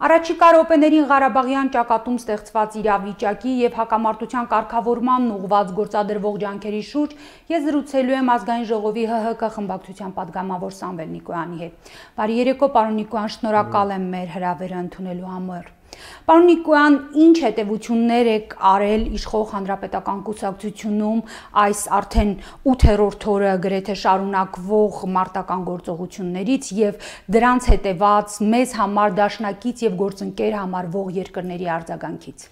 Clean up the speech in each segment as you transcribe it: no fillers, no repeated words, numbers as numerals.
Առաջիկա րոպեներին Ղարաբաղյան ճակատում ստեղծված իրավիճակի եւ հակամարտության կարգավորմանն ուղղված գործադրվող ջանքերի շուրջ ես զրուցելու եմ ազգային ժողովի ՀՀԿ խմբակցության падգամավոր Սամվել Նիկոյանի հետ։ Բարի երեկո, պարոն Նիկոյան, շնորհակալ եմ մեր հրավերը ընդունելու համար։ Պարոն Նիկոյան, ինչ հետևություններ եք արել իշխող հանրապետական կուսակցությունում այս արդեն 8-րդ օրը գրեթե շարունակվող մարտական գործողություններից եւ դրանց հետեված մեզ համար դաշնակից եւ գործընկեր համարվող երկրների արձագանքից։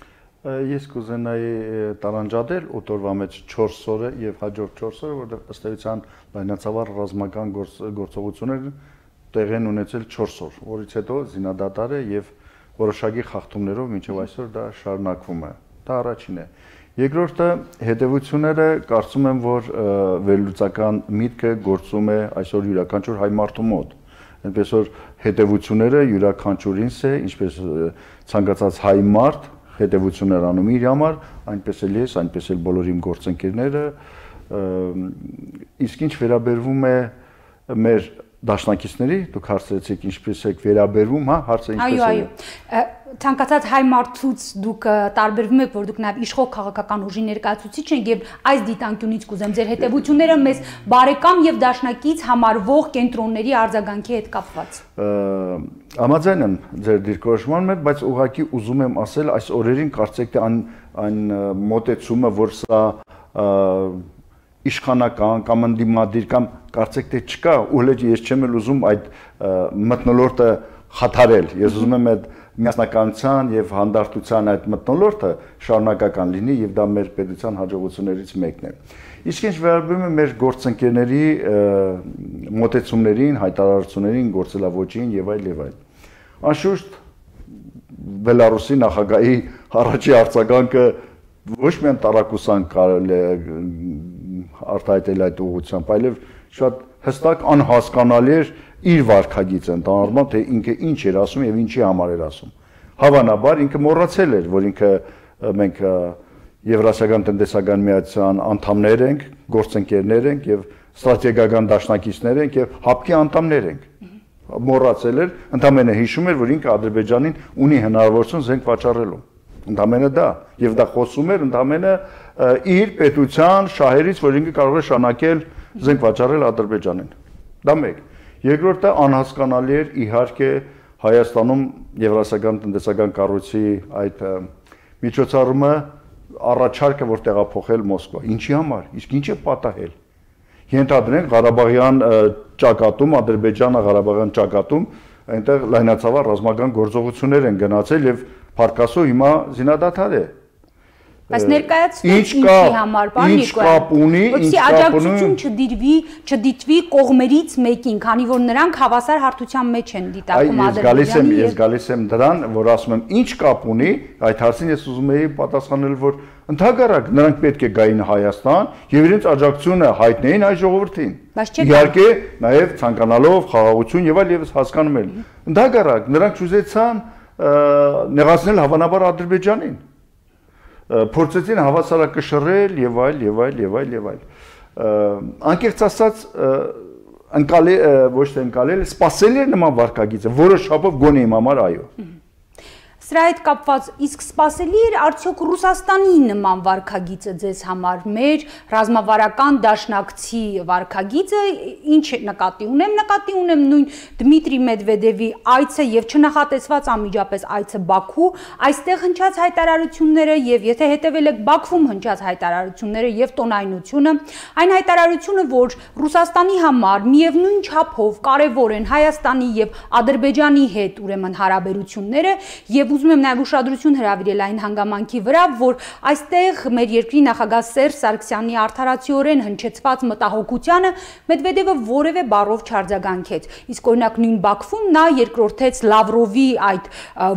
Ես կուզենայի տարանջատել 8 օրվա մեջ 4 օրը եւ հաջորդ 4 օրը, որտեղ ըստ էության լայնածավալ ռազմական գործողություններ տեղի են ունեցել 4 օր, որից հետո զինադադար է եւ որոշակի խախտումներով մինչև այսօր դա շարունակվում է։ Դա առաջինն է։ Երկրորդը հետևությունները կարծում եմ, որ վերլուծական միտքը գործում է այսօր յուրաքանչյուր հայ մարդու մոտ։ Այնպես որ հետևությունները յուրաքանչյուրինս է, ինչպես ցանկացած հայ մարդ հետևություններ անում իր համար, այնպես էլ ես, այնպես էլ բոլոր իմ գործընկերները, իսկ ինչ վերաբերվում է մեր դաշնակիցների, դուք հարցրեցիք ինչպես եք վերաբերվում, հա, հարցը ինչպես է։ Այո, ցանկացած հայ մարդուց դուք տարբերվում եք, որ դուք նաև իշխող քաղաքական ուժի ներկայացուցիչ եք եւ այս դիտանկյունից կուզեմ ձեր հետևությունները մեզ բարեկամ եւ դաշնակից համարվող կենտրոնների արձագանքի հետ կապված։ Համաձայն եմ ձեր դիրքորոշման հետ, բայց ուղղակի ուզում եմ ասել, այս օրերին կարծեք թե այն մոտեցումը, որ սա իշխանական կամ ընդդիմադիր կամ կարծեք թե չկա, ու հենց ես չեմ էլ ուզում այդ մթնոլորտը խաթարել։ Ես ուզում եմ այդ միասնականության եւ հանդարտության այդ մթնոլորտը շարունակական լինի եւ դա մեր պետության հաջողություններից մեկն է։ Իսկ ինչ վերաբերում է մեր գործընկերների մոտեցումներին, հայտարարություններին, գործելավոճին եւ այլ եւ այլ։ Անշուշտ Բելարուսի նախագահի առաջի արձագանքը ոչ միայն տարակուսան կարելի է արտահայտել այդ ուղղությամբ, այլև շատ հստակ անհասկանալի էր իր վարքագիծը ընդհանրապես, թե ինքը ինչ էր ասում եւ ինչի համար էր ասում։ Հավանաբար ինքը մոռացել էր, որ ինքը մենք Եվրասիական տնտեսական միացության անդամներ ենք, գործընկերներ ենք եւ ստրատեգիական դաշնակիցներ ենք եւ ՀԱՊԿ-ի անդամներ ենք։ Մոռացել էր, ընդամենը հիշում էր, որ ինքը Ադրբեջանին ունի հնարավորություն զենք վաճառելու։ Ընդամենը դա եւ դա խոսում էր ընդամենը իր պետության շահերից, որ ինքը կարող է շանակել զենք վաճառել Ադրբեջանին։ Դա մեկ։ Երկրորդը անհասկանալի էր իհարկե Հայաստանում Եվրասիական տնտեսական կառույցի այդ միջոցառումը առաջարկը, որ տեղափոխել Մոսկվա։ Ինչի համար, իսկ ինչ է պատահել։ Ենթադրենք Ղարաբաղյան ճակատում, Ադրբեջանը Ղարաբաղյան ճակատում, այնտեղ լայնածավալ ռազմական գործողություններ են գնացել եւ Փարքասո հիմա զինադադար է։ Բայց ներկայացվեց ինչի համար, պարոն Նիկոյան, որպեսզի աջակցություն չդիտվի կողմերից մեկին, քանի որ նրանք հավասար հարթության մեջ են դիտարկում Ադրբեջանի։ Ես գալիս եմ դրան, որ ասում եմ ինչ կապ ունի, այդ հարցին ես ուզում եի պատասխանել, որ ընդհանրապես նրանք պետք է գային Հայաստան եւ իրենց աջակցությունը հայտնեին այ ժողովրդին։ Իհարկե նաեւ ցանկանալով խաղաղություն եւ այլ եւս հասկանում են։ Ընդհանրապես նրանք ուզեցան նեղացնել հավանաբար Ադրբեջանին, փորձեցին հավասարակշռել եւ այլ եւ այլ եւ այլ եւ այլ։ Անկեղծ ասած ոչ թե ընկալել, սпасելի էր նման վարկագիծը, որոշ չափով գոնե իմ համար այո։ Սրա հետ կապված իսկ սпасելի էր արդյոք Ռուսաստանի նման վարկագիծը ձեզ համար, մեր ռազմավարական դաշնակցի վարկագիծը, ինչ նկատի ունեմ նույն Դմիտրի Մեդվեդևի այցը եւ չնախատեսված անմիջապես այցը Բաքու, այստեղ հնչած հայտարարությունները եւ եթե հետեւել եք Բաքվում հնչած հայտարարությունները եւ տոնայնությունը, այն հայտարարությունը, որ Ռուսաստանի համար միևնույն չափով կարեւոր են Հայաստանի եւ Ադրբեջանի հետ ուրեմն հարաբերությունները եւ ուզում եմ նաև ուշադրություն հրավիրել այն հանգամանքի վրա, որ այստեղ մեր երկրի նախագահ Սերժ Սարգսյանի արդարացիորեն հնչեցված մտահոգությանը Մեդվեդևը որևէ բառով չարձագանքեց։ Իսկ օրինակ նույն Բաքվում նա երկրորդեց Լավրովի այդ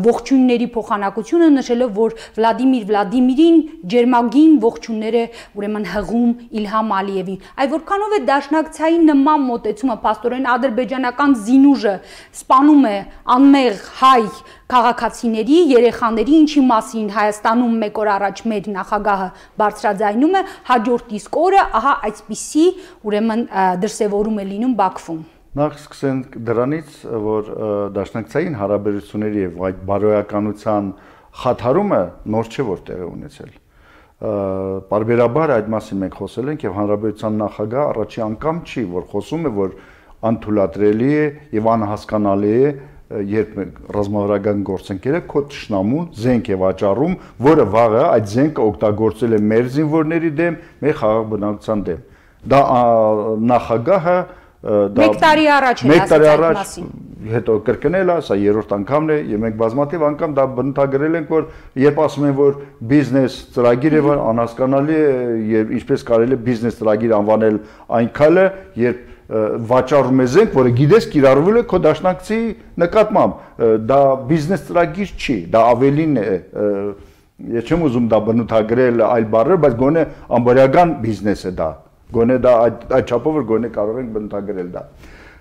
ողջույնների փոխանակությունը, նշելով, որ Վլադիմիրին ջերմագին ողջույնները ուրեմն հղում Իլհամ Ալիևին։ Այ որքանով է դաշնակցային նման մոտեցումը փաստորեն ադրբեջանական զինուժը սպանում է անմեղ հայ քաղաքացիների, երեխաների, ինչի մասին Հայաստանում մեկ օր առաջ մեր նախագահը բարձրաձայնում է, հաջորդ իսկ օրը ահա այսպիսի ուրեմն դրսևորում է լինում Բաքվում։ Նախ սկսենք դրանից, որ դաշնակցային հարաբերությունների եւ այդ բարոյականության խաթարումը նոր չէ որ տեղի ունեցել։ Պարբերաբար այդ մասին մենք խոսել ենք եւ հանրապետության նախագահ առաջի անգամ չի, որ խոսում է, որ անթույլատրելի է եւ անհասկանալի է, երբ ռազմավարական գործընկերը քո ճշնամուն զենք է վաճառում, որը վաղը այդ զենքը օգտագործել է մեր զինվորների դեմ, մեր խաղաղ բնակչության դեմ։ Դա նախագահը Մեկ տարի առաջ է ասած այդ մասին։ Հետո կրկնել է, սա երրորդ անգամն է, եւ մենք բազմաթիվ անգամ դա բնութագրել ենք, որ երբ ասում են, որ բիզնես ծրագիր է, որ անհասկանալի է, եւ ինչպես կարելի է բիզնես ծրագիր անվանել այն քայլը, երբ վաճառում է զենք, որը գիտես կիրառվել է քո դաշնակցի նկատմամբ, դա բիզնես ծրագիր չի, դա ավելին է, ես չեմ ուզում դա բնութագրել այլ բառեր, բայց գոնե ամբողջական բիզնես է դա, գոնե դա այդ չափով որ գոնե կարող ենք բնութագրել դա։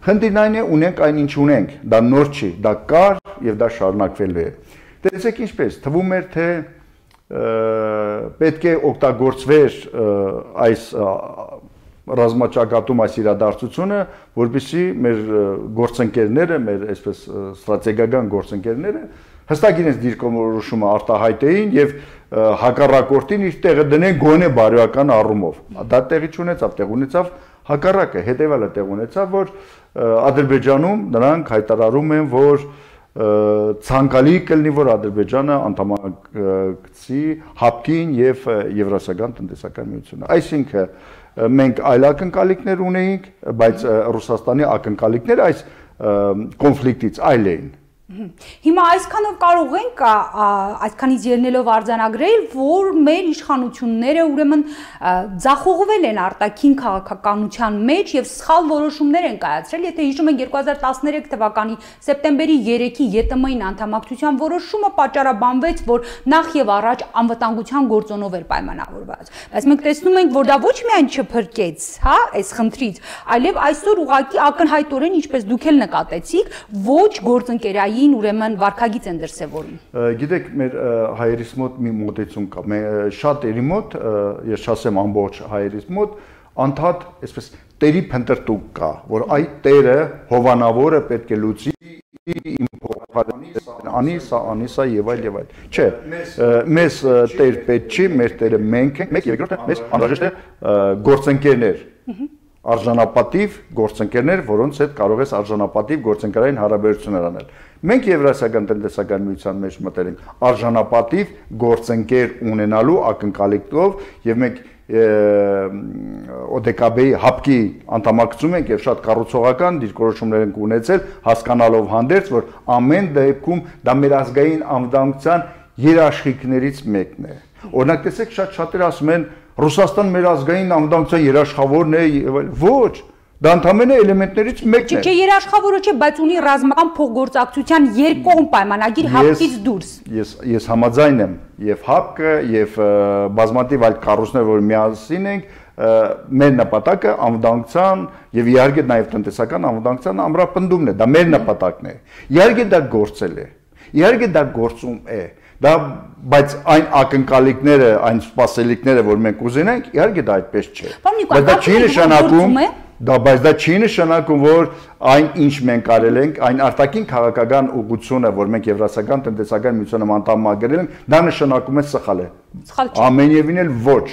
Խնդիրն այն է, ունենք այն ինչ ունենք, դա նոր չի, դա կար եւ դա շարունակվելու է։ Տեսեք ինչպես, թվում էր թե պետք է օգտագործվեր այս ռազմաճակատում այս իրադարձությունը, որպեսզի մեր գործընկերները, մեր այսպես ստրատեգիական գործընկերները հստակ իրենց դիրքորոշումը արտահայտեին եւ հակառակորդին իր տեղը դնեն գոնե բարոյական առումով։ Դա տեղի չունեցավ, տեղ ունեցավ հակառակը, հետեւալը տեղ ունեցավ, որ Ադրբեջանում նրանք հայտարարում են, որ ցանկալի կլինի, որ Ադրբեջանը անդամակցի ՀԱՊԿ-ին եւ Եվրասիական տնտեսական միությունը։ Այսինքն մենք այլ ակնկալիքներ ունեինք, բայց Ռուսաստանի ակնկալիքները այս կոնֆլիկտից այլ էին։ Հիմա այսքանով կարող ենք այսքանից ելնելով արձանագրել, որ մեր իշխանությունները ուրեմն ձախողվել են արտաքին քաղաքականության մեջ եւ սխալ որոշումներ են կայացրել, եթե հիշում ենք 2013 թվականի սեպտեմբերի 3-ի ԵՏՄ-ին անդամակցության որոշումը պատճառաբանվեց, որ նախ եւ առաջ անվտանգության գործոնով էր պայմանավորված։ Բայց մենք տեսնում ենք, որ դա ոչ միայն չփրկեց, հա, այս խնդրից, այլև այսօր ուղղակի ակնհայտորեն, ինչպես դուք էլ նկատեցիք, ոչ գործընկերային ուրեմն վարկագիծ են դրսևորում։ Գիտեք, մեր հայերիս մոտ մի մոտեցում կա, շատերի մոտ, ես չասեմ ամբողջ հայերիս մոտ, անդադ այսպես տերի փնտրտուք կա, որ այդ տերը հովանավորը պետք է լուծի իմ փոխարինի, սա եւ այլ եւ այլ։ Չէ, մեզ տեր պետք չի, մեր տերը մենք ենք, մեկ եւ երկրորդը մեզ անհրաժեշտ է գործընկերներ։ Արժանապատիվ գործընկերներ, որոնց հետ կարող ես արժանապատիվ գործընկերային հարաբերություններ անել։ Մենք Եվրասիական տնտեսական միության մեջ մտել ենք արժանապատիվ գործընկեր ունենալու ակնկալիքով եւ մենք ՕԴԿԲ-ի ՀԱՊԿ-ի անդամակցում ենք եւ շատ կառուցողական դիրքորոշումներ ենք ունեցել, հասկանալով հանդերձ, որ ամեն դեպքում դա մեր ազգային անվտանգության երաշխիքներից մեկն է։ Օրինակ տեսեք, շատերը ասում են Ռուսաստան մեր ազգային անվտանգության երաշխավորն է եւ այլ։ Ոչ, դա ընդհանրապես էլեմենտներից մեկն է։ Չէ, երաշխավորը չէ, բայց ունի ռազմական փոխգործակցության երկկողմ պայմանագիր ՀԱՊԿ-ից դուրս։ Ես համաձայն եմ, եւ ՀԱՊԿ-ը եւ բազմաթիվ այլ կառույցներ, որ միասին ենք, մեր նպատակը անվտանգության եւ իհարկե նաեւ տնտեսական անվտանգության ամրապնդումն է, դա մեր նպատակն է։ Իհարկե դա գործել է։ Իհարկե դա գործում է։ Դա բայց այն ակնկալիքները, այն սպասելիքները, որ մենք ուզենանք, իհարկե դա այդպես չէ։ Բայց դա չի նշանակում, բայց դա չի նշանակում, որ այն ինչ մենք արել ենք, այն արտաքին քաղաքական ուղղությունը, որ մենք Եվրասիական տնտեսական միությանը անդամագրել ենք, դա նշանակում է սխալ է։ Ամենևին էլ ոչ։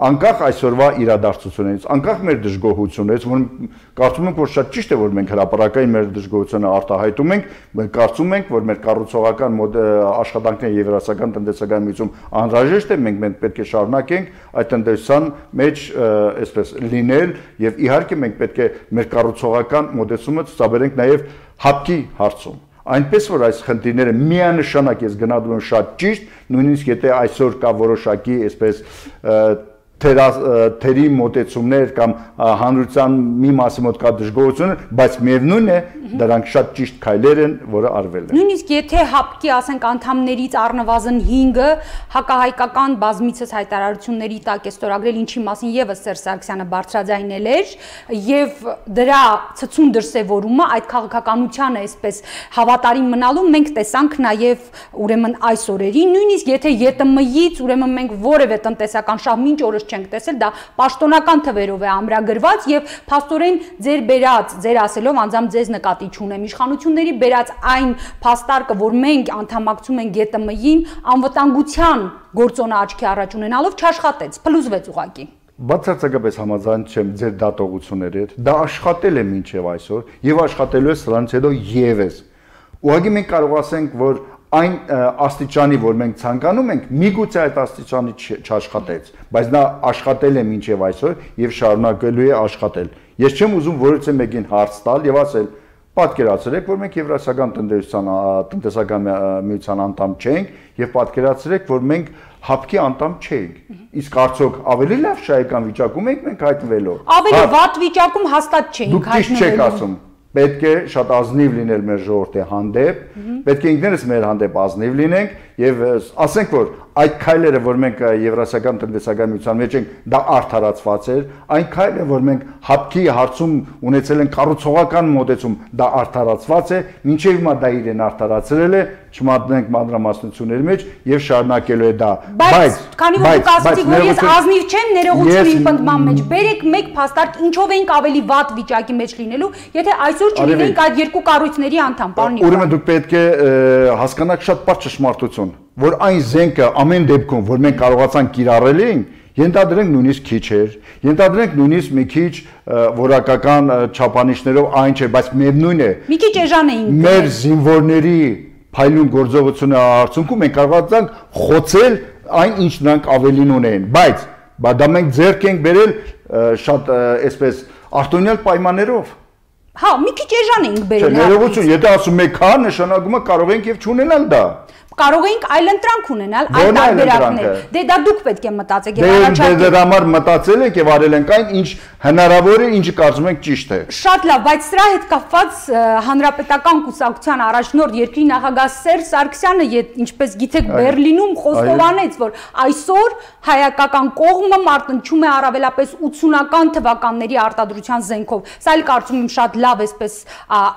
Անկախ այսօրվա իրադարձություններից, անկախ մեր դժգոհություններից, որ կարծում ենք, որ շատ ճիշտ է, որ մենք հրապարակային մեր դժգոհությունը արտահայտում ենք, մենք կարծում ենք, որ մեր կառուցողական աշխատանքները Եվրասիական տնտեսական միությունում անհրաժեշտ է, մենք պետք է շարունակենք այդ տնտեսության մեջ այսպես լինել եւ իհարկե մենք պետք է մեր կառուցողական մոտեցումը ցուցաբերենք նաեւ ՀԱՊԿ-ի հարցում։ Այնպես որ այս խնդիրները միանշանակ ես գնահատում եմ շատ ճիշտ, նույնիսկ եթե այսօր կա որոշակի այսպես թերի մոտեցումներ կամ հանրության մի մասի մոտ կա դժգոհություն, բայց միևնույն է դրանք շատ ճիշտ քայլեր են, որը արվել են։ Նույնիսկ եթե ՀԱՊԿ-ի, ասենք, անդամներից առնվազն 5-ը հակահայկական բազմիցս հայտարարությունների տակ է ստորագրել, ինչի մասին եւս Սերժ Սարգսյանը բարձրաձայնել էր, եւ դրա ցցուն դրսեւորումը այդ քաղաքականությանը այսպես հավատարիմ մնալու մենք տեսանք նաեւ ուրեմն այս օրերին, նույնիսկ եթե ԵՏՄ-ից ուրեմն մենք որևէ տնտեսական շահ մինչ օրս չենք տեսել, դա պաշտոնական թվերով է ամրագրված եւ փաստորեն ձեր բերած, ձեր ասելով անձամբ ձեզ նկատի չունեմ, իշխանությունների բերած այն փաստարկը, որ մենք անդամակցում ենք ԳՏՄ-ին, անվտանգության գործոնը աչքի առաջ ունենալով չաշխատեց, փլուզվեց ուղղակի։ Բացարձակապես համաձայն չեմ ձեր դատողությունների հետ, դա աշխատել է մինչև այսօր եւ աշխատելու է սրանից հետո եւս։ Ուղղակի մենք կարող ասենք, որ այն աստիճանի, որ մենք ցանկանում ենք, միգուցե այդ աստիճանի չաշխատեց, բայց նա աշխատել է մինչև այսօր եւ շարունակելու է աշխատել։ Ես չեմ ուզում որևէ մեկին հարց տալ եւ ասել, պատկերացրեք, որ մենք Եվրասիական տնտեսական միության անդամ չենք եւ պատկերացրեք, որ մենք հապկի անդամ չենք։ Իսկ արդյոք ավելի լավ շահեկան վիճակում ենք մենք հայտնվելով։ Ավելի վատ վիճակում հաստատ չենք հայտնվելու։ Դուք ճիշտ չեք ասում։ Պետք է շատ ազնիվ լինել մեր ժողովրդի հանդեպ, պետք է ինքներս մեր հանդեպ ազնիվ լինենք եւ ասենք, որ այդ քայլերը, որ մենք Եվրասիական տնտեսական միության մեջ ենք, դա արդարացված էր, այն քայլերը, որ մենք հապկի հարցում ունեցել ենք կառուցողական մոտեցում, դա արդարացված է, մինչև հիմա դա իրեն արդարացրել է, չմատնենք մանրամասնությունների մեջ եւ շարունակելու է դա։ Բայց քանի որ դուք ասացիք, որ ես ազնիվ չեմ ներողություն իմ պնդման մեջ, բերեք մեկ փաստարկ, ինչով էինք ավելի վատ վիճակի մեջ լինելու, եթե այսօր չլինեինք այդ երկու կառույցների անդամ, պարոն Նիկոյան։ Ուրեմն դուք պետք է հասկանաք շատ պարզ ճշմարտություն, որ այն զենքը ամեն դեպքում, որ մենք կարողացանք կիրառել ենք, ենթադրենք նույնիսկ քիչ էր, ենթադրենք նույնիսկ մի քիչ որակական չափանիշներով այն չէ, բայց միևնույն է։ Մի քիչ էժան էինք։ Մեր զինվորների փայլուն գործողությունը արդյունքում մենք կարողացանք խոցել այն, ինչ նրանք ավելին ունեն, բայց դա մենք ձեռք ենք բերել շատ այսպես արտոնյալ պայմաններով։ Հա, մի քիչ էժան էինք բերել։ Ներողություն, եթե ասում եք հա, նշանակում է կարող ենք եւ չունենալ դա։ Կարող էինք այլ ընտրանք ունենալ, այլ տարբերակներ։ Դե դա դուք պետք է մտածեք եւ առաջարկեք։ Դե համար մտածել եք եւ արել ենք այն, ինչ հնարավոր է, ինչը կարծում ենք ճիշտ է։ Շատ լավ, բայց սրա հետ կապված հանրապետական կուսակցության առաջնորդ երկրի նախագահ Սերժ Սարգսյանը, ինչպես գիտեք, Բերլինում խոստովանեց, որ այսօր հայկական կողմը մարտնչում է առավելապես 80-ական թվականների արտադրության զենքով։ Սա էլ կարծում եմ շատ լավ էսպես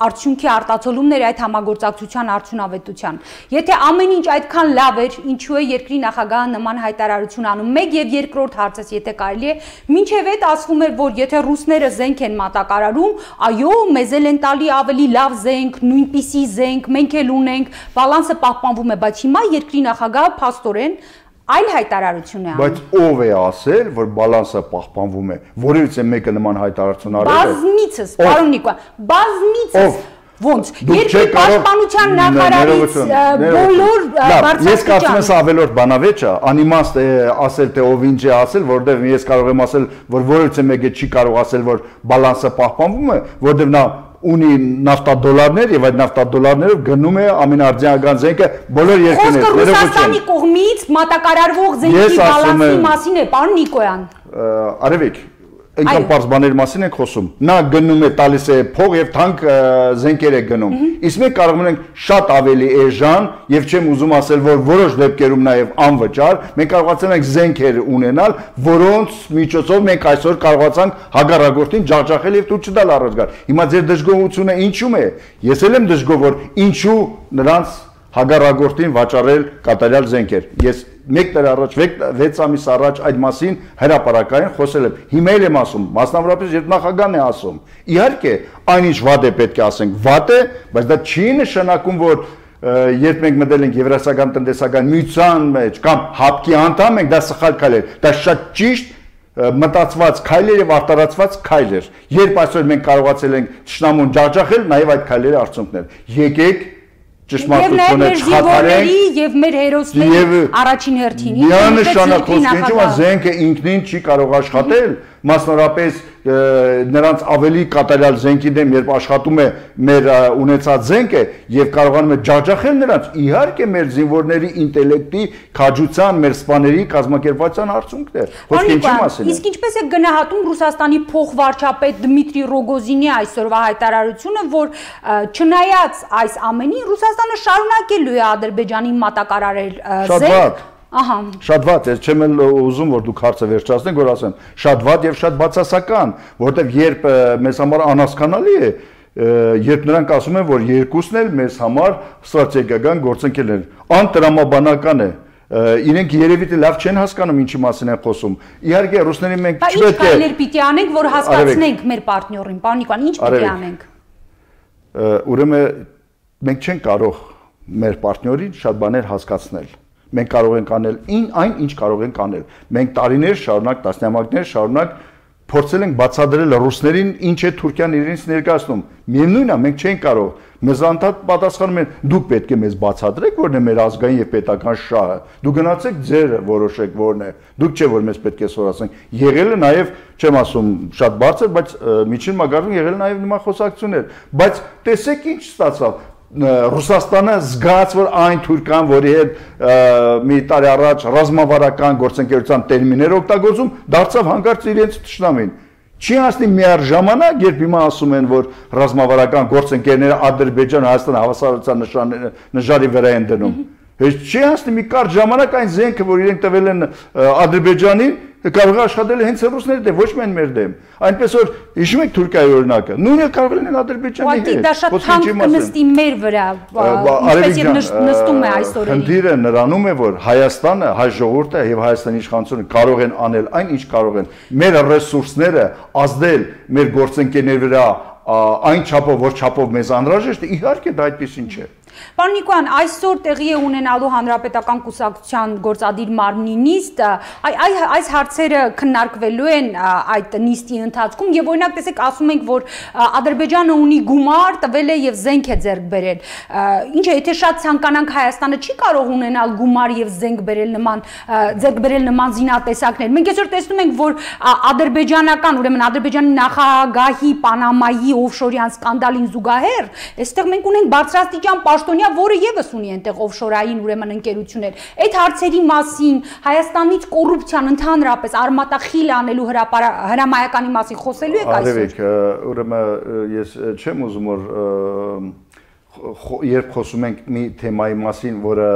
արդյունքի արտացոլումներ այդ համագործակցության արդյունավետության։ Եթե ամեն ինչ այդքան լավ էր, ինչու է երկրի նախագահը նման հայտարարություն անում։ Մեկ եւ երկրորդ հարցս, եթե կարելի է, մինչեւ այդ ասվում էր, որ եթե ռուսները զենք են մատակարարում, այո, մեզ էլ են տալի ավելի լավ զենք, նույնպիսի զենք, մենք էլ ունենք, բալանսը պահպանվում է, բայց հիմա երկրի նախագահը փաստորեն այլ հայտարարություն է անում։ Բայց ով է ասել, որ բալանսը պահպանվում է։ Որևէ մեկը նման հայտարարություն արել է։ Բազմիցս, պարոն Նիկոյան, բազմիցս ոնց երկրի պաշտպանության նախարարից բոլոր բարձրաստիճան։ Ես կարծում եմ ավելորդ բանավեճ է, անիմաստ է ասել թե ով ինչ է ասել, որովհետև ես կարող եմ ասել, որ որևէ մեկը չի կարող ասել, որ բալանսը պահպանվում է, որովհետև նա ունի նավթադոլարներ եւ այդ նավթադոլարներով գնում է ամենաարդյունական զենքը բոլոր երկրներից։ Խոսքը Ռուսաստանի կողմից մատակարարվող զենքի բալանսի մասին է, պարոն Նիկոյան։ Արևիկ, այնքան պարզ բաների մասին ենք խոսում։ Նա գնում է, տալիս է փող եւ թանկ զենքեր է գնում։ Իսկ մենք կարող ենք շատ ավելի էժան եւ չեմ ուզում ասել, որ որոշ դեպքերում նաեւ անվճար մենք կարողացել ենք զենքեր ունենալ, որոնց միջոցով մենք այսօր կարողացանք հագարագործին ջախջախել եւ թույլ չտալ առաջ գալ։ Հիմա ձեր դժգոհությունը ինչու՞մ է։ Ես էլ եմ դժգոհ, որ ինչու նրանց հագարագործին վաճառել կատարյալ զենքեր։ Ես 1 տարի առաջ, 6 ամիս առաջ այդ մասին հրապարակային խոսել եմ։ Հիմա էլ եմ ասում, մասնավորապես երբ նախագահն է ասում։ Իհարկե, այնինչ վատ է պետք է ասենք, վատ է, բայց դա չի նշանակում, որ երբ մենք մտել ենք Եվրասիական տնտեսական միության մեջ կամ հապկի անդամ ենք, դա սխալ քայլ է։ Դա շատ ճիշտ մտածված քայլեր եւ արտարացված քայլեր։ Երբ այսօր մենք կարողացել ենք ճշնամուն ջախջախել, նաեւ այդ քայլերի արդյունքներ։ Եկեք ճշմարտությունը չխաթարենք եւ մեր հերոսների առաջին հերթին։ Միանշանակ խոսքը զենքը ինքնին չի կարող աշխատել, մասնավորապես նրանց ավելի կատարյալ զենքի դեմ, երբ աշխատում է մեր ունեցած զենքը եւ կարողանում է ջախջախել նրանց, իհարկե մեր զինվորների ինտելեկտի, քաջության, մեր սպաների կազմակերպության արդյունքն է։ Խոսքը ինչի մասին է։ Իսկ ինչպես է գնահատում Ռուսաստանի փոխվարչապետ Դմիտրի Ռոգոզինի այսօրվա հայտարարությունը, որ չնայած այս ամենին Ռուսաստանը շարունակելու է Ադրբեջանին մատակարարել զենք։ Ահա։ Շատ վատ, ես չեմ էլ ուզում, որ դուք հարցը վերջացնեք, որ ասեմ, շատ վատ եւ շատ բացասական, որովհետեւ երբ մեզ համար անհասկանալի է, երբ նրանք ասում են, որ երկուսն էլ մեզ համար ստրատեգիական գործընկերներ են, անտրամաբանական է, իրենք երևի թե լավ չեն հասկանում ինչի մասին են խոսում։ Իհարկե ռուսներին մենք չպետք է։ Բայց ինչ կարելի պիտի անենք, որ հասկացնենք մեր պարտներին, պարոն Նիկոյան, ինչ պիտի անենք։ Ուրեմն մենք չենք կարող մեր պարտներին շատ բաներ հասկացնել։ Մենք կարող ենք անել այն, ինչ կարող ենք անել։ Մենք տարիներ շարունակ, տասնամյակներ շարունակ փորձել ենք բացատրել ռուսներին ինչ է Թուրքիան իրենց ներկայացնում։ Միևնույնն է, մենք չենք կարող։ Մեզ անդադ պատասխանում են, դուք պետք է մեզ բացատրեք, որն է մեր ազգային եւ պետական շահը։ Դուք գնացեք ձեր որոշեք որն է։ Դուք չէ որ մեզ պետք է սորացնենք։ Եղել է նաեւ, չեմ ասում շատ բարձր, բայց միջին մագարտում եղել նաեւ նման խոսակցություններ։ Բայց տեսեք ինչ ստացավ։ Ռուսաստանը զգաց, որ այն Թուրքիան, որի հետ մի տարի առաջ ռազմավարական գործընկերության տերմիններ օգտագործում, դարձավ հանկարծ իրենց թշնամին։ Չի հասնի միառժամանակ, երբ հիմա ասում են, որ ռազմավարական գործընկերները Ադրբեջան, Հայաստան հավասարության նժարի վրա են դնում։ Հենց չի հասնի մի կարճ ժամանակ այն զենքը, որ իրենք տվել են Ադրբեջանին, կարող է աշխատել հենց ռուսների դեմ, ոչ միայն մեր դեմ։ Այնպես որ հիշում եք Թուրքիայի օրինակը, նույնը կարող են Ադրբեջանի հետ։ Դա շատ թանկ կնստի մեր վրա, ինչպես եւ նստում է այս օրերին։ Խնդիրը նրանում է, որ Հայաստանը, հայ ժողովուրդը եւ Հայաստանի իշխանությունը կարող են անել այն, ինչ կարող են։ Մեր ռեսուրսները ազդել մեր գործընկերների վրա այն չափով, որ չափով մեզ անհրաժեշտ է, իհարկե դա այդպեսին չէ։ Պարոն Նիկոյան, այսօր տեղի է ունենալու Հանրապետական կուսակցության գործադիր մարմնի նիստը, այս հարցերը քննարկվելու են այդ նիստի ընթացքում եւ օրինակ տեսեք ասում ենք, որ Ադրբեջանը ունի գումար, տվել է եւ զենք է ձեռք բերել։ Ինչ է, եթե շատ ցանկանանք Հայաստանը չի կարող ունենալ գումար եւ զենք ձեռք բերել նման զինատեսակներ։ Մենք այսօր տեսնում ենք, որ ադրբեջանական, ուրեմն Ադրբեջանի նախագահի Պանամայի օֆշորյան սկանդալին զուգահեռ, այստեղ մենք ունենք բարձրաստիճան պաշտոնյա, որը եւս ունի այնտեղ օֆշորային ուրեմն ընկերություններ։ Այդ հարցերի մասին Հայաստանից կոռուպցիան ընդհանրապես արմատախիլ անելու հրամայականի մասին խոսելու եք այսօր։ Արևիկ, ուրեմն ես չեմ ուզում որ երբ խոսում ենք մի թեմայի մասին, որը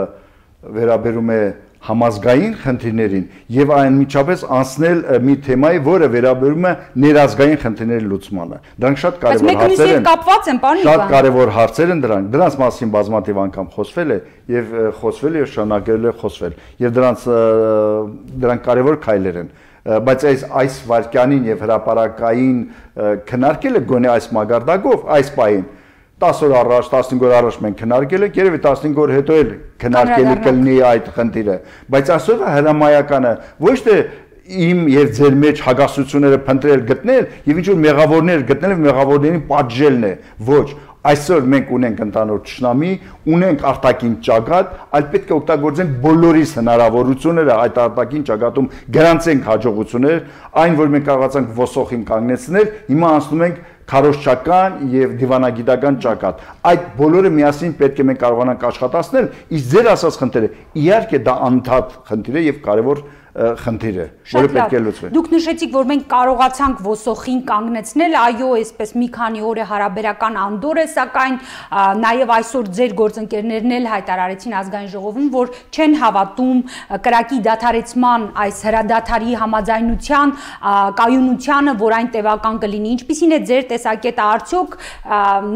վերաբերում է համազգային խնդիրներին եւ անմիջապես անցնել մի թեմայի, որը վերաբերում է ներազգային խնդիրների լուծմանը։ Դրանք շատ կարեւոր հարցեր են։ Կապված են, պարոն Նիկոյան։ Շատ կարեւոր հարցեր են դրանք։ Դրանց մասին բազմաթիվ անգամ խոսվել է եւ խոսվել եւ շարունակել է խոսվել։ Եվ դրանք կարեւոր քայլեր են։ Բայց այս վարքյանին եւ հրապարակային քննարկելը գոնե այս մագարտակով, այս պահին 10 օր առաջ, 15 օր առաջ մենք քննարկել ենք, երևի 15 օր հետո էլ քննարկելի կլինի այդ խնդիրը, բայց այսօր հրամայականը ոչ թե իմ եւ ձեր մեջ հագասությունները փնտրել գտնել եւ ինչ որ մեղավորներ գտնել եւ մեղավորներին պատժելն է, ոչ, այսօր մենք ունենք ընդհանուր ճշնամի, ունենք արտաքին ճակատ, այլ պետք է օգտագործենք բոլորիս հնարավորությունները այդ արտաքին ճակատում գրանցենք հաջողություններ, այն որ մենք կարողացանք ոսոխին կանգնեցնել, հիմա անցնում ենք քարոզչական եւ դիվանագիտական ճակատ։ Այդ բոլորը միասին պետք է մենք կարողանանք աշխատացնել, իսկ ձեր ասած խնդիրը իհարկե դա անդադ խնդիր է եւ կարեւոր խնդիր է, որը պետք է լուծվի։ Դուք նշեցիք, որ մենք կարողացանք ոսոխին կանգնեցնել, այո, այսպես մի քանի օր է հարաբերական անդոր է, սակայն նաև այսօր ձեր գործընկերներն էլ հայտարարեցին ազգային ժողովում, որ չեն հավատում կրակի դադարեցման այս հրադադարի համաձայնության կայունությանը, որ այն տևական կլինի։ Ինչպիսին է ձեր տեսակետը, արդյոք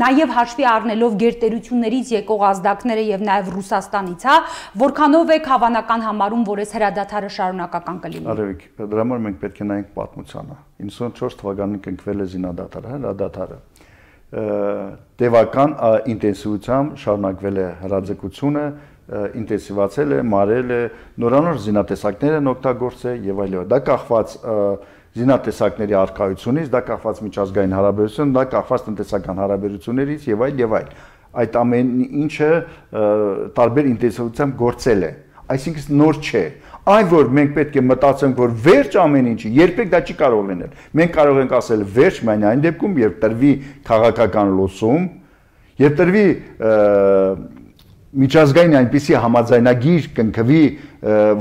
նաև հաշվի առնելով գերտերություններից եկող ազդակները եւ նաև Ռուսաստանից, հա, որքանով եք հավանական համարում, որ այս հրադադարը շարունակական կլինի։ Արևիկ, դրա համար մենք պետք է նայենք պատմությանը։ 94 թվականին կնքվել է զինադադարը, հրադադարը։ Տևական ինտենսիվությամբ շարունակվել է հրաձգությունը, ինտենսիվացել է, մարել է, նորանոր զինատեսակներ են օգտագործել եւ այլն։ Դա կախված զինատեսակների առկայությունից, դա կախված միջազգային հարաբերություններից, դա կախված տնտեսական հարաբերություններից եւ այլ եւ այլ։ Այդ ամեն ինչը տարբեր ինտենսիվությամբ գործել է։ Այսինքն նոր չէ։ Այն որ մենք պետք է մտածենք, որ վերջ ամեն ինչի, երբեք դա չի կարող լինել։ Մենք կարող ենք ասել վերջ միայն այն դեպքում, երբ տրվի քաղաքական լուսում, երբ տրվի միջազգային այնպիսի համաձայնագիր կնքվի,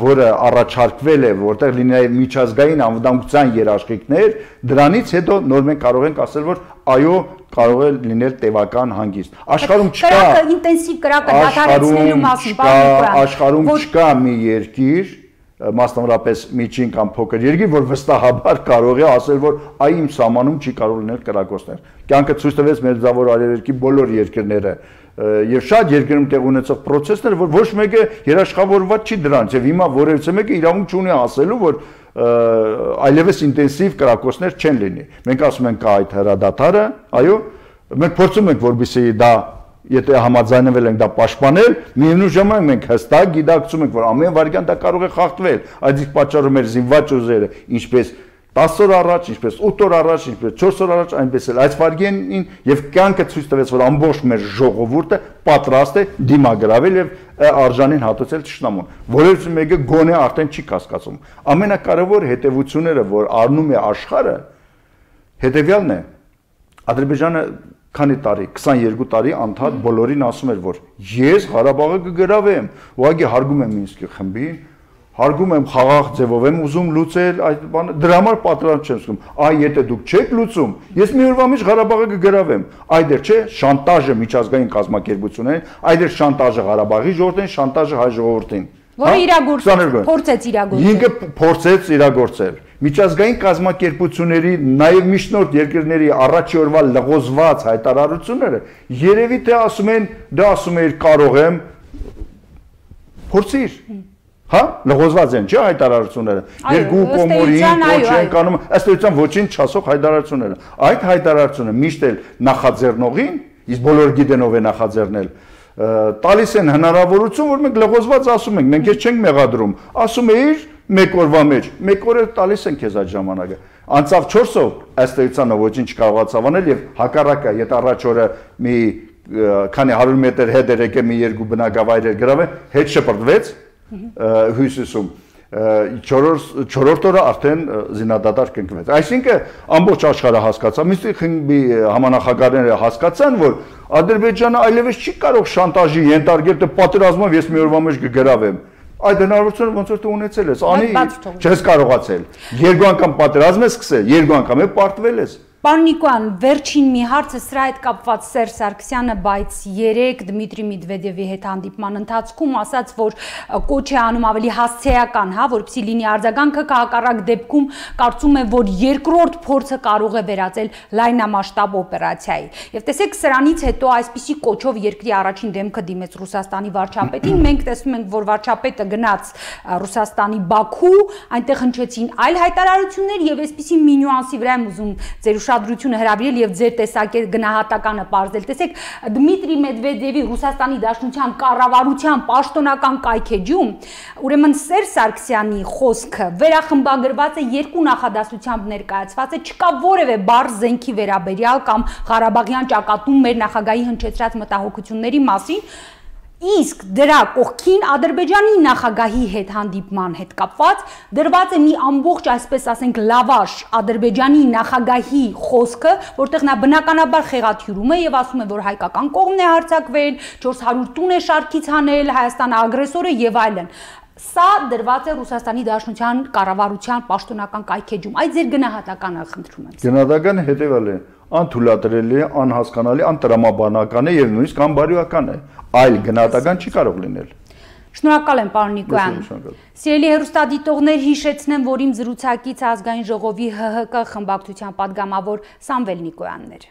որը առաջարկվել է, որտեղ լինի միջազգային անվտանգության երաշխիքներ, դրանից հետո նոր մենք կարող ենք ասել, որ այո, կարող է լինել տևական հանգիստ։ Աշխարհում չկա ինտենսիվ կրակը դադարեցնելու մասին, պարոն Նիկոյան։ Աշխարհում չկա մի երկիր, մասնավորապես միջին կամ փոքր երկիր, որ վստահաբար կարող է ասել, որ իմ սահմանում չի կարող լինել կրակոցներ։ Կյանքը ցույց տվեց Մերձավոր Արևելքի բոլոր երկրները եւ շատ երկրում տեղ ունեցող process-ներ, որ ոչ մեկը երաշխավորված չի դրանց եւ հիմա որևիցե մեկը իրավունք չունի ասելու, որ այլևս ինտենսիվ կրակոցներ չեն լինի։ Մենք ասում ենք կա այդ հրադադարը, այո, մենք փորձում ենք որպեսզի դա եթե համաձայնվել ենք դա պաշտպանել, միևնույն ժամանակ մենք հստակ գիտակցում ենք, որ ամեն վայրկյան դա կարող է խախտվել, այդ իսկ պատճառով մեր զինված ուժերը, ինչպես 10 օր առաջ, ինչպես 8 օր առաջ, ինչպես 4 օր առաջ, այնպես էլ այս վայրկյանին եւ կյանքը ցույց տվեց, որ ամբողջ մեր ժողովուրդը պատրաստ է դիմագրավել եւ արժանին հատուցել ճշտամուն։ Որևէ մեկը գոնե արդեն չի կասկածում։ Ամենակարևոր հետևությունները, որ առնում է աշխարհը, հետեւյալն է. Ադրբեջանը քանի տարի, 22 տարի անդադ բոլորին ասում էր, որ ես Ղարաբաղը կգրավեմ, ուղղակի հարգում եմ Մինսկի խմբին, հարգում եմ խաղաղ ձևով եմ ուզում լուծել այդ բանը, դրա համար պատրաստ չեմ զգում։ Այ եթե դուք չեք լուծում, ես մի օրվա մեջ Ղարաբաղը կգրավեմ։ Այդ չէ, շանտաժը միջազգային կազմակերպություններին, այդ շանտաժը Ղարաբաղի ժողովրդին, շանտաժը հայ ժողովրդին։ Որը փորձեց իրագործել։ Ինքը փորձեց իրագործել։ Միջազգային կազմակերպությունների, նաև միջնորդ երկրների առաջի օրվա լղոզված հայտարարությունները երևի թե ասում են, դա ասում էր կարող եմ, փորձիր։ Հա, լղոզված են, չէ՞ հայտարարությունները։ Երկու կողմերին ոչ են կանում, ըստ էության ոչինչ չասող հայտարարությունները։ Այդ հայտարարությունը միշտ էլ նախաձեռնողին, իսկ բոլորը գիտեն ով է նախաձեռնել, տալիս են հնարավորություն, որ մենք լղոզված ասում ենք, մենք ես չենք մեղադրում, ասում էիր մեկ օրվա մեջ, մեկ օր տալիս են քեզ այդ ժամանակը։ Անցավ 4 օր, ըստ էության ոչինչ չկարողացավ անել եւ հակառակը, եթե առաջ օրը մի քանի 100 մետր հետ էր եկել մի երկու բնակավայր էր գրավել, հետ շպրտվեց հյուսիսում։ 4-րդ օրը արդեն զինադադար կնքվեց։ Այսինքն ամբողջ աշխարհը հասկացավ, Մինսկի խմբի համանախագահները հասկացան, որ Ադրբեջանը այլևս չի կարող շանտաժի ենթարկել, թե պատերազմով ես մի օրվա մեջ կգրավեմ։ Այդ հնարավորությունը ոնց որ դու ունեցել ես, անի չես կարողացել։ Երկու անգամ պատերազմ ես սկսել, երկու անգամ է պարտվել ես։ Պարոն Նիկոյան, վերջին մի հարցը սրա հետ կապված Սերժ Սարգսյանը, բայց երեք Դմիտրի Մեդվեդևի հետ հանդիպման ընթացքում ասաց, որ կոչ է անում ավելի հասցեական, հա, որպեսզի լինի արձագանքը, հակառակ դեպքում կարծում է, որ երկրորդ փորձը կարող է վերածել լայնամասշտաբ օպերացիայի։ Եվ տեսեք, սրանից հետո այսպիսի կոչով երկրի առաջին դեմքը դիմեց Ռուսաստանի վարչապետին, մենք տեսնում ենք, որ վարչապետը գնաց Ռուսաստանի Բաքու, այնտեղ հնչեցին այլ հայտարարություններ եւ այսպիսի մի նյուանսի վրա եմ ուզում ձեր ուշադրությունը հրավիրել եւ ձեր տեսակետ գնահատականը բարձել։ Տեսեք, Դմիտրի Մեդվեդևի Ռուսաստանի Դաշնության կառավարության պաշտոնական կայքեջում, ուրեմն Սերժ Սարգսյանի խոսքը վերախմբագրված է երկու նախադասությամբ ներկայացված է, չկա որևէ բառ զենքի վերաբերյալ կամ Ղարաբաղյան ճակատում մեր նախագահի հնչեցրած մտահոգությունների մասին։ Իսկ դրա կողքին Ադրբեջանի նախագահի հետ հանդիպման հետ կապված դրված է մի ամբողջ, այսպես ասենք, լավաշ Ադրբեջանի նախագահի խոսքը, որտեղ նա բնականաբար խեղաթյուրում է եւ ասում է, որ հայկական կողմն է հարձակվել, 400 տուն է շարքից հանել, Հայաստանը ագրեսոր է եւ այլն։ Սա դրված է Ռուսաստանի Դաշնության կառավարության պաշտոնական կայքեջում։ Այդ ձեր գնահատականը խնդրում եմ։ Գնահատականը հետեւյալն է. անթույլատրելի է, անհասկանալի, անտրամաբանական է եւ նույնիսկ անբարոյական է։ Այլ գնահատական չի կարող լինել։ Շնորհակալ եմ, պարոն Նիկոյան։ Սիրելի հեռուստադիտողներ, հիշեցնեմ, որ իմ զրուցակից ազգային ժողովի ՀՀԿ խմբակցության պատգամավոր Սամվել Նիկոյանն էր։